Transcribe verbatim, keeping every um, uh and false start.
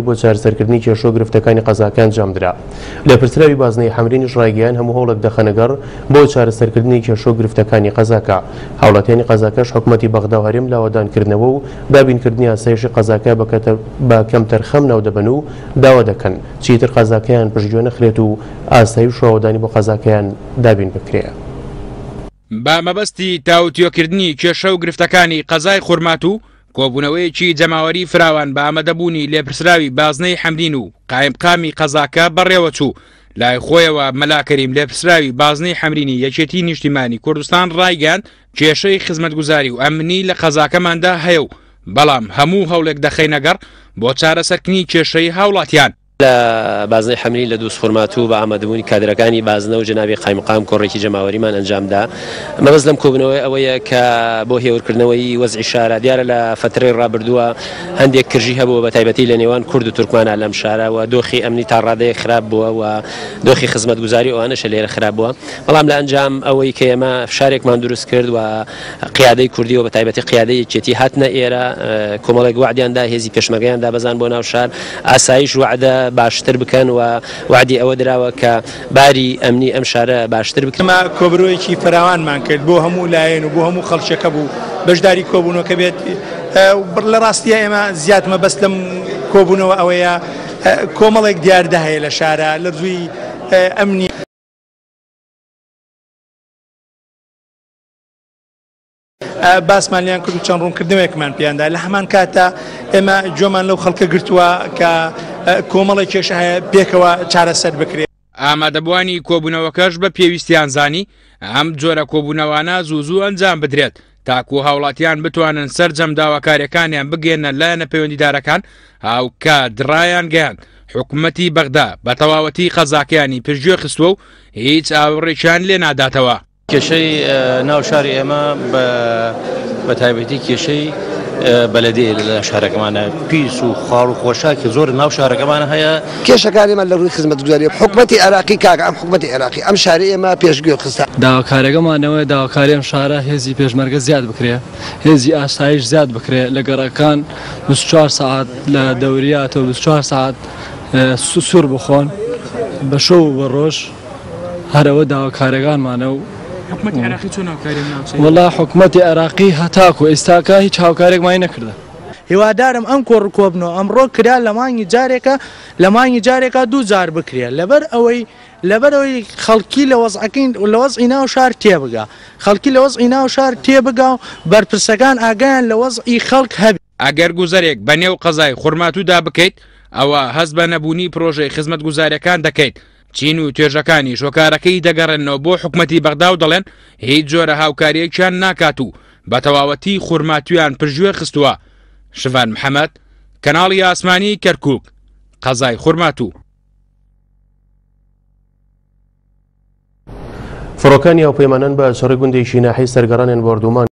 بۆ چارەسەرکردنی کێشە و گرفتەکانی قەزاکە ئەنجامدرا. لێپرسراوی بازنەی حەمرینیش ڕایگەیاند هەموو هەوڵێک دەخەنەگەڕ بۆ چارەسەرکردنی کێشە و گرفتەکانی قەزاکە. هاوڵاتیانی قەزاکەش حکومەتی بەغدا و هەرێم لاوەدانکردنەوە و دابینکردنی ئاسایشی قەزاکە بە کەمتەرخەم ناودەبەن و داوا دەکەن چیتر قەزاکەیان پشتگوێ نەخرێت و ئاسایش و ئاوەدانی بۆ قەزاکەیان دابین بکرێ. بە مەبەستی تاوتوێکردنی کێشە و گرفتەکانی قەزای خورماتوو کۆبوونەوەیەکی جەماوەری فراوان بە ئامادەبوونی لێپرسراوی بازنەی حەمرین و قایمقامی قەزاکە بەڕێوەچوو. لای خۆیەوە مەلا کەریم لێپرسراوی بازنەی حەمرینی یەکێتی نیشتیمانی کوردستان ڕایگەیاند کێشەی خزمەتگوزاری و ئەمنی لە قەزاکەماندا هەیە و بەڵام هەموو هەوڵێک دەخەینەگەڕ بۆ چارەسەرکردنی کێشەی هاوڵاتیان. لە بازنەی حەمرین لە دووز خورماتوو بە ئامادەبوونی کادرەکانی بازنە و جەنابی قایمقام کۆڕێکی جەماوەریمان ئەنجامدا. مەبەست لەم کۆبوونەوەی ئەوەیە کە بۆ هێورکردنەوەی وەزعی شارە دیارە لە فترەی ڕابردووە هەندێک کرژی هەبووە بە تایبەتی لە نێوان کورد و تورکمانە لەم شارە و دۆخی ئەمنی تا ڕادەیەک خراپ بووە و دۆخی خزمەتگوزاری ئەوانەشە لێرە خراپ بووە. بەڵام لە ئەنجام ئەوەی کە ئێمە فشارێکمان دروست کرد و قیادەی کوردی و بە تایبەتی قیادەی یەکێتی هاتنە ئێرە کۆمەڵێک وعدیاندا هێزی پێشمەرگەیان دابەزان بۆ ناو شار ئاسایش وعدە باشتر بکەن و وعدی ئەوە دراوە کە باری ئەمنی ئەم شارە باشتر بکەن. ئێمە کۆبرۆیەکی فراوانمان کرد بۆ هەموو لایەن و بۆ هەموو خەڵکێکە بوو بەشداری کۆبوونەوەکە بێت. لە ڕاستیە ئێمە زیاد مەبەست لەم کۆبوونەوە ئەوەیە کۆمەڵێک دیاردە هەیە لە شارە لە ڕووی ئەمنی باسمان لیان کرد و چەند ڕوونکردنەوەیەکمان پێیاندا. لە هەمان کاتە ئێمە گوێمان لەو خەڵکە گرتووە کە کۆمەڵێک کێشە هەیە پێکەوە چارەسەر بکرێت. ئامادەبووانی کۆبوونەوەکەش بە پێویستیان زانی ئەم جۆرە کۆبوونەوانە زوو زوو ئەنجام بدرێت تاکو هاوڵاتیان بتوانن سەرجەم داواکاریەکانیان بگەێنە لایەنە پەیوەندیدارەکان. هاوکات ڕایانگەیاند حکومەتی بەغدا بە تەواوەتی قەزاکەیانی پشتگوێ خستووە و هیچ ئاوڕێکیان لێ ناداتەوە. کێشەی ناو شاری ئێمە بە تایبەتی کێشەی بەلەدەیە لە شارەکەمانە پیس و خاڵ و خۆشاکی زۆر ناو شارەکەمانە هەیە. کێشەکانی ئێمە لە ڕووی خزمەتگوزاری حکومەتی عێراقی کاکە ئەم حکومەتی عێراقی ئەم شارەی ئێمە پێشگوێ خستە. داواکاریەکەمانەوەی داواکاری ئەم شارە هێزی پێشمەرگە زیاد بکرێ، هێزی ئاسایش زیاد بکرێ لە گەڕەکان بیست و چوار سەعات لە دەوریاتەوە بیست و چوار سەعات سوور بخۆن بە شەو و بە ڕۆژ. هەرەوە داواکاریەکانمانە و حکومەتی عێراقی چۆن هاوکاری ناوچەیە؟ وەڵا حکومەتی عێراقی هەتاکو ئێستاکە هیچ هاوکارێکمانی نەکردە. هیوادارم ئەم کۆڕ کۆبنەوە ئەمڕۆ کرا لە مانگی جارێکە لە مانگی جارێکە دوو جار بکرێ لەبەر ئەوەی لەبەر ئەوەی خەڵکی لە وەزعەکەی لە وەزعی ناو شار تێبگا خەڵکی لە وەزعی ناو شار تێبگا و بەرپرسەکان ئاگایان لە وەزعی خەڵک هەبێ. ئەگەر گوزەرێک بە نێو قەزای خورماتوودا بکەیت ئەوە هەست بە نەبوونی پرۆژەی خزمەتگوزاریەکان دەکەیت. چین و توێژەکانی شۆکارەکەی دەگەڕێنەوە بۆ حکومەتی بەغدا و دەڵێن هیچ جۆرە هاوکاریەکیان ناکات و بە تەواوەتی خورماتوویان پشتگوێ خستووە. شڤان محەممەد، کەناڵی ئاسمانی کەرکووک، قەزای خورماتوو. فڕۆکانی هاوپەیمانان بە چڕی گوندێکی ناحیەی سەرگەڕانیان بۆردومان